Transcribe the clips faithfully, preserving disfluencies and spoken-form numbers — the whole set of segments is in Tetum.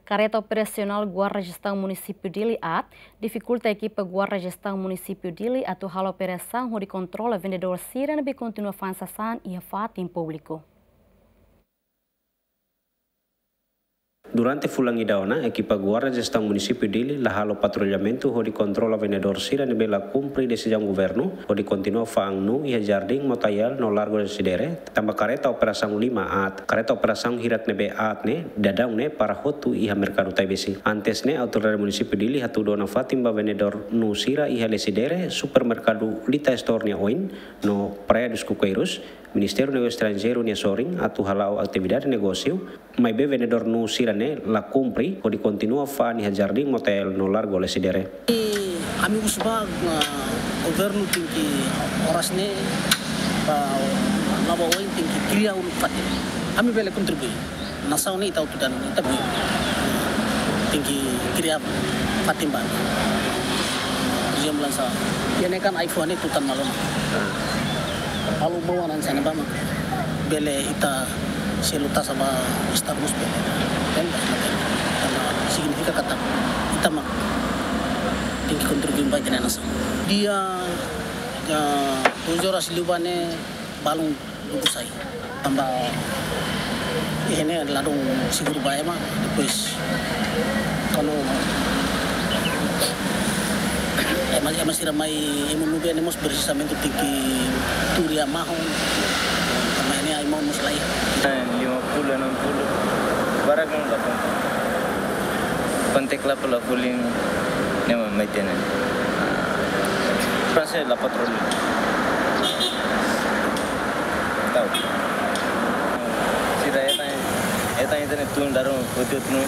Kareta operasionál Guarda Jestaun Munisípiu Dili aat difikulta ekipa Guarda Jestaun Munisípiu Dili atu halo operasaun hodi kontrola vendedór sira ne'ebé kontinua fa'an sasán iha fatin públiku. Durante fulan ida ona, ekipa Guarda Jestaun Munisípiu Dili la halo patrullamentu hodi kontrola vendedór sira ne'ebé la kumpre desizaun governu hodi kontinua fa'an nuu iha Jardín Motael no Largo Lecidere, tanba kareta operasaun lima aat. Kareta operasaun hirak ne'ebé aat ne'e daudaun ne'e para hotu iha Merkadu Taibesi. Antes ne'e, Autoridade Munisípiu Dili hatudu ona fatin ba vendedór nuu sira iha Lecidere, Supermerkadu Lita Store nia oin, no Praia dos Coqueiros. Ministériu Negósiu Estranjeiru nia sorin atu hala'o atividade negósiu, maibé vendedór nuu sira-ne'e la kumpre hodi kontinua fa'an iha Jardín Motael no Largo Lecidere. I ami husu ba, ah, governu tenke oras ne'e, ba, laba oin tenke kria uluk fatin. Ami bele kontribui. Nasaun ne'e ita hotu dehan, ita bui. Tenke kria fatin ba. Por ezemplu, hanesan, iha ne'e kan ai-fuan ne'e tutan malu ona. Malu bau hanesan ne'ebá mak bele ita selu taxa ba Estadu mós bele. Kan, signifika katak ita mak tenke kontribui ba ita-nia nasaun. Dia, ya, tujuh oras liu ba ne'e balun dudu sai. Tanba iha ne'e ladún seguru ba ema, depois kalau ema, ema sira mai ema nubia ne'e mós precisamente tenke tuur iha mahon. Tanba ne'e ai-mahon mós laiha. Lima puluh, enam puluh. Barak yang dapat. Kontak la pula fuling ne'e mak mai tene. Prase la patroli. Tau. Sira eta, eta internet tun daru hotu tun.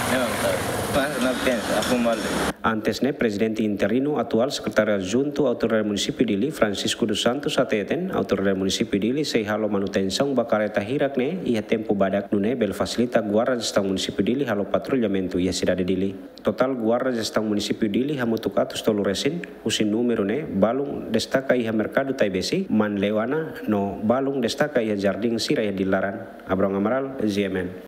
Ne'e mak tau. Mas na pens, aku mal. Antes ne'e, Prezidente interinu atuál Sekretáriu Adjuntu Autoridade Munisípiu Dili, Francisco dos Santos, hateten, Autoridade Munisípiu Dili sei halo manutensaun ba kareta hirak ne'e iha tempu badak, nune'e bele fasilita Guarda Jestaun Munisípiu Dili halo patrullamentu iha sidade Dili. Totál Guarda Jestaun Munisípiu Dili hamutuk atus tolu resin, husi númeru ne'e balun destaka iha Merkadu Taibesi, Man Leuana, no balun destaka iha jardín sira iha Dili laran. Abrão Amaral, G M N.